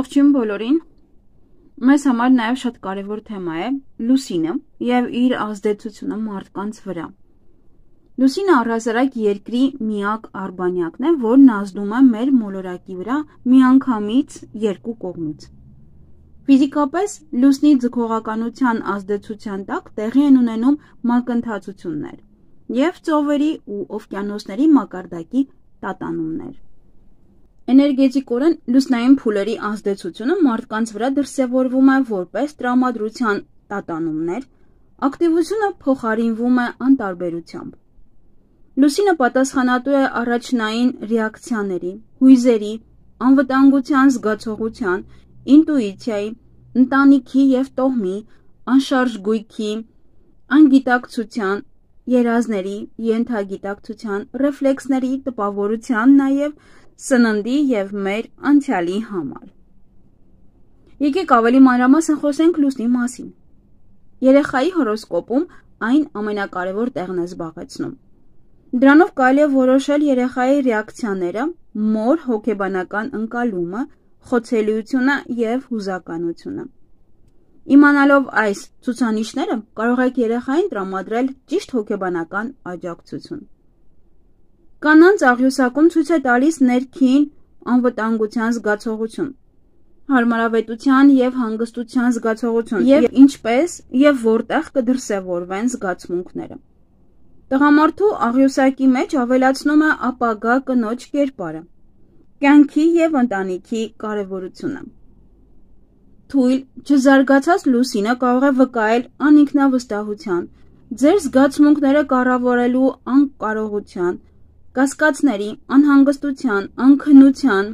Ողջույն բոլորին, մեզ համար նաև շատ կարևոր թեմա է լուսինը և իր ազդեցությունը մարդկանց վրա։ Լուսինը առհասարակ երկրի միակ արբանյակն է, որն ազդում է մեր մոլորակի վրա միանգամից երկու կողմից։ Ֆիզիկապես լուսնի ձգողականության ազդեցության տակ տեղի են ունենում մակընթացություններ և ծովերի ու օվկիանոսների մակարդակի տատանումներ։ Էներգետիկորեն լուսնային փուլերի ազդեցությունը մարդկանց վրա դրսևորվում է որպես տրամադրության տատանումներ, ակտիվությունը փոխարինվում է անտարբերությամբ։ Լուսինը պատասխանատու է առաջնային ռեակցիաների, հույզերի, անվտանգության զգացողության, ինտուիցիայի, ընտանիքի և տոհմի, անշարժ գույքի, անգիտակցության, երազների, ենթագիտակցության, ռեֆլեքսների, տպավորության, նաև սննդի և մեր անցյալի համար։ Եկեք ավելի մանրամասն խոսենք լուսնի մասին։ Երեխայի հորոսկոպում այն ամենակարևոր տեղն է զբաղեցնում։ Դրանով կարելի է որոշել երեխայի ռեակցիաները, մոր հոգեբանական ընկալումը, խոցելիությունը և հուզականությունը։ Իմանալով այս ցուցանիշները կարող եք երեխային տրամադրել ճիշտ հոգեբանական աջակցություն։ Կանանց աղյուսակում ցույց է տալիս ներքին անվտանգության զգացողություն, հարմարավետության և հանգստության զգացողություն և ինչպես և որտեղ կդրսևորվեն զգացմունքները։ Տղամարդու աղյուսակի մեջ ավելացնում է ապագա կնոջ կերպարը, կյանքի և ընտանիքի կարևորությունը։ Թույլ, չզարգացած լուսինը կարող է վկայել անինքնավստահության, ձեր զգացմունքները կառավարելու անկարողության, կասկածների, անհանգստության, անքնության,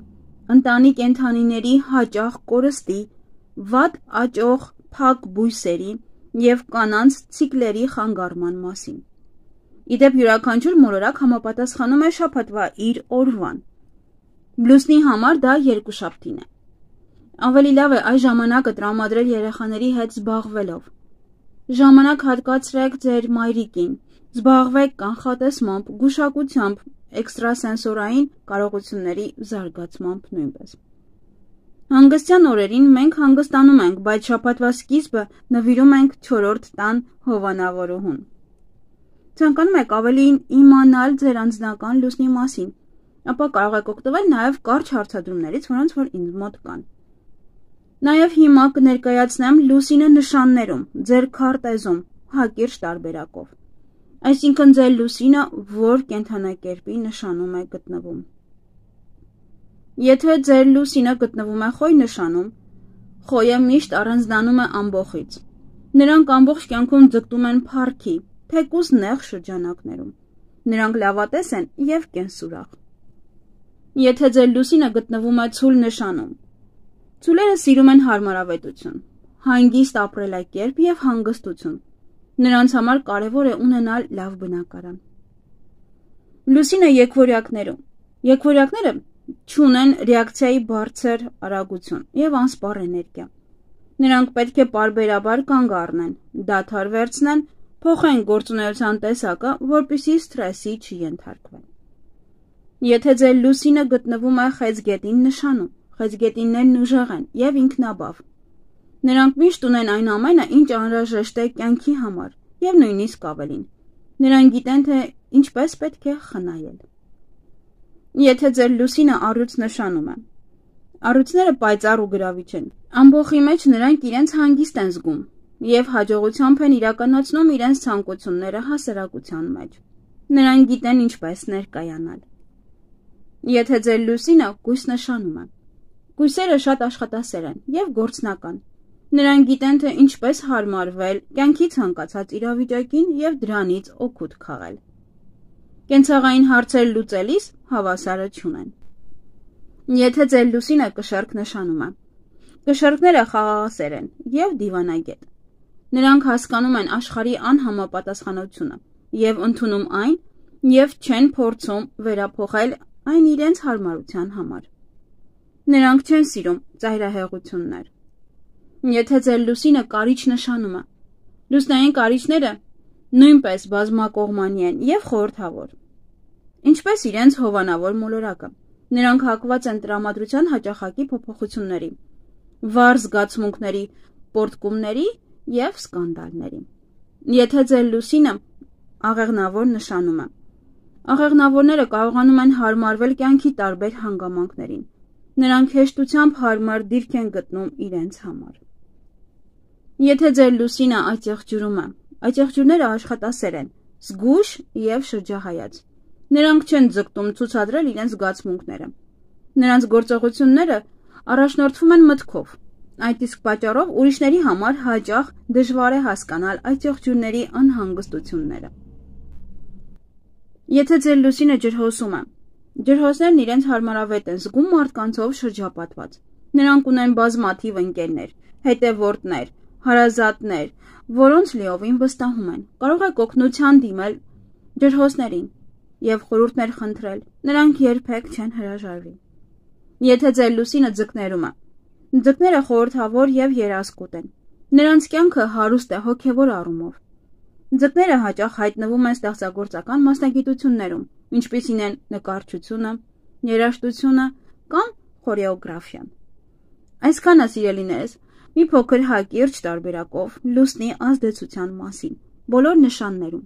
ընտանի կենդանիների հաճախ կորստի, վատ աճող փակ բույսերի և կանանց ցիկլերի խանգարման մասին։ Իդեպ յուրաքանչյուր մոլորակ համապատասխանում է շաբաթվա իր օրվան։ Լուսնի համար դա երկուշաբթին է։ Ավելի լավ է այս ժամանակը տրամադրել երեխաների հետ զբաղվելով։ Ժամանակ հատկացրեք ձեր մայրիկին, զբաղվեք կանխատեսմամբ, գուշակությամբ, էքստրասենսորային կարողությունների զարգացմամբ նույնպես։ Հանգստյան օրերին մենք հանգստանում ենք, բայց շաբաթվա սկիզբը նվիրում ենք չորրորդ տան հովանավորուհուն։ Ցանկանում եք ավելին իմանալ ձեր անձնական լուսնի մասին, ապա կարող եք օգտվել նաև կարճ հարցադրումներից, որոնց որ ինձ մոտ կան։ Նաև հիմա կներկայացնեմ լուսինը նշաններում, ձեր քարտեզում, հակիրճ տարբերակով։ Այսինքն ձեր լուսինը որ կենդանակերպի նշանում է գտնվում։ Եթե ձեր լուսինը գտնվում է խոյ նշանում, խոյը միշտ առանձնանում է ամբոխից։ Նրանք ամբողջ կյանքում ձգտում են փառքի, թեկուզ նեղ շրջանակներում։ Նրանք լավատես են և կենսուրախ։ Եթե ձեր լուսինը գտնվում է ցուլ նշանում, ցուլերը սիրում են հարմարավետություն, հանգիստ ապրելակերպ և հանգստություն։ Նրանց համար կարևոր է ունենալ լավ բնակարան։ Լուսինը եկվորյակներում։ Եկվորյակները չունեն ռեակցիայի բարձր արագություն և անսպառ էներգիա։ Նրանք պետք է պարբերաբար կանգ առնեն, դադար վերցնեն, փոխեն գործունեության տեսակը, որպեսզի սթրեսի չենթարկվեն։ Եթե ձեր լուսինը գտնվում է խեցգետին նշանում, խեցգետիններն ուժեղ են և ինքնաբավ։ Նրանք միշտ ունեն այն ամենը, ինչ անհրաժեշտ է կյանքի համար և նույնիսկ ավելին։ Նրանք գիտեն, թե ինչպես պետք է խնայել։ Եթե ձեր լուսինը առյուծ նշանում է, առյուծները պայծառ ու գրավիչ են։ Ամբոխի մեջ նրանք իրենց հանգիստ են զգում և հաջողությամբ են իրականացնում իրենց ցանկությունները հասարակության մեջ։ Նրանք գիտեն ինչպես ներկայանալ։ Եթե ձեր լուսինը կույս նշանում է, կույսերը շատ աշխատասեր են և գործնական։ Նրանք գիտեն, թե ինչպես հարմարվել կյանքի ցանկացած իրավիճակին և դրանից օգուտ քաղել։ Կենցաղային հարցեր լուծելիս հավասարը չունեն։ Եթե ձեր լուսինը կշեռք նշանում է, կշեռքները խաղաղասեր են և դիվանագետ։ Նրանք հասկանում են աշխարհի անհամապատասխանությունը և ընդունում այն և չեն փորձում վերափոխել այն իրենց հարմարության համար։ Նրանք չեն սիրում ծայրահեղություններ։ Եթե ձեր լուսինը կարիճ նշանում է, լուսնային կարիճները նույնպես բազմակողմանի են և խորհրդավոր։ Ինչպես իրենց հովանավոր մոլորակը, նրանք հակված են տրամադրության հաճախակի փոփոխությունների, վառ զգացմունքների, պոռթկումների և սկանդալների։ Եթե ձեր լուսինը աղեղնավոր նշանում է, աղեղնավորները կարողանում են հարմարվել կյանքի տարբեր հանգամանքներին։ Նրանք հեշտությամբ հարմար դիրք են գտնում իրենց համար։ Եթե ձեր լուսինը այդ եղջյուրում է, այդ եղջյուրները աշխատասեր են, զգույշ և շրջահայաց։ Նրանք չեն ձգտում ցուցադրել իրենց զգացմունքները։ Նրանց գործողությունները առաջնորդվում են մտքով, այդ իսկ պատճառով ուրիշների համար հաճախ դժվար է հասկանալ այդ եղջյուրների անհանգստությունները։ Եթե ձեր լուսինը ջրհոսում է, ջրհոսներն իրենց հարմարավետ են զգում մարդկանցով շրջապատված։ Նրանք ունեն բազմաթիվ ընկերներ, հետևորդներ, հարազատներ, որոնց լիովին վստահում են։ Կարող եք օգնության դիմել ջրհոսներին և խորհուրդներ խնդրել, նրանք երբեք չեն հրաժարվի։ Եթե ձեր լուսինը ձկներում է, ձկները խորհրդավոր և երազկոտ են։ Նրանց կյանքը հարուստ է հոգևոր առումով։ Ձկները հաճախ հայտնվում են ստեղծագործական մասնագիտություններում, ինչպիսին են նկարչությունը, երաժշտությունը կամ խորեոգրաֆիան։ Այսքանը, սիրելիներս, մի փոքր հակիրճ տարբերակով լուսնի ազդեցության մասին բոլոր նշաններում։